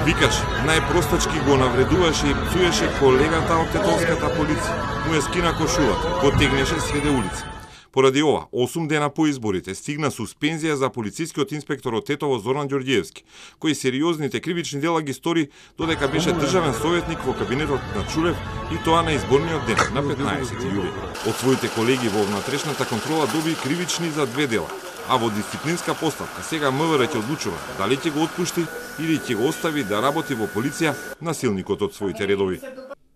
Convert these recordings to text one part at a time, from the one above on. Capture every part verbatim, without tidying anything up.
Викаш, најпростачки го навредуваше и псуеше колегата од тетовската полиција. Му ја скина кошулата, го тегнеше среде улица. Поради ова, осум дена по изборите стигна суспензија за полицискиот инспектор од Тетово Зоран Ѓорѓиевски, кој сериозните кривични дела ги стори додека беше државен советник во кабинетот на Чулев и тоа на изборниот ден, на петнаесети јули. Од своите колеги во внатрешната контрола доби кривични за две дела, а во дисциплинска поставка сега МВР ќе одлучува дали ќе го отпушти или ќе го остави да работи во полиција насилникот од своите редови.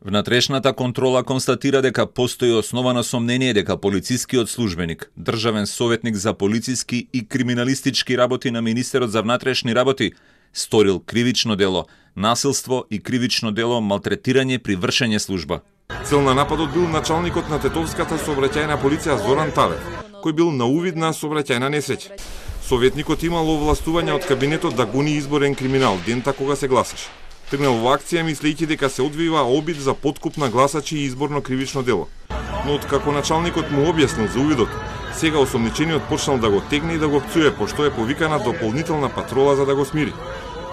Внатрешната контрола констатира дека постои основано сомнение дека полицискиот службеник, државен советник за полициски и криминалистички работи на Министерот за внатрешни работи, сторил кривично дело, насилство и кривично дело малтретирање при вршење служба. Цел на нападот бил началникот на Тетовската сообраќајна полиција Зоран Талев, кој бил на увид на сообраќајна несреќа. Советникот имал овластување од кабинетот да гони изборен криминал дента кога се гласаше. Тргнал во акција мислејќи дека се одвива обид за подкуп на гласачи и изборно кривично дело. Но откако началникот му објаснил за увидот, сега осомничениот почнал да го тегне и да го пцуе, пошто е повикана дополнителна патрола за да го смири.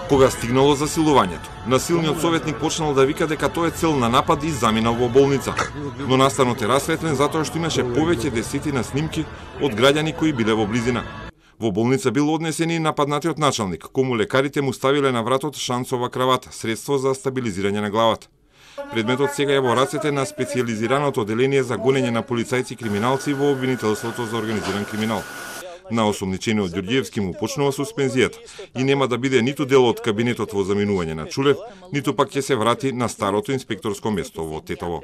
Кога стигнало засилувањето, насилниот советник почнал да вика дека тоа е цел на напад и заминал во болница. Но настанот е расветлен затоа што имаше повеќе десетина снимки од граѓани кои биле во близина. Во болница бил однесен и нападнатиот началник, кому лекарите му ставиле на вратот шансова кравата, средство за стабилизирање на главата. Предметот сега е во рацете на специјализираното одделение за гонење на полицајци и криминалци во обвинителството за организиран криминал. На осомничениот Ѓорѓиевски му почнува суспензијата и нема да биде ниту дел од кабинетот во заминување на Чулев, ниту пак ќе се врати на старото инспекторско место во Тетово.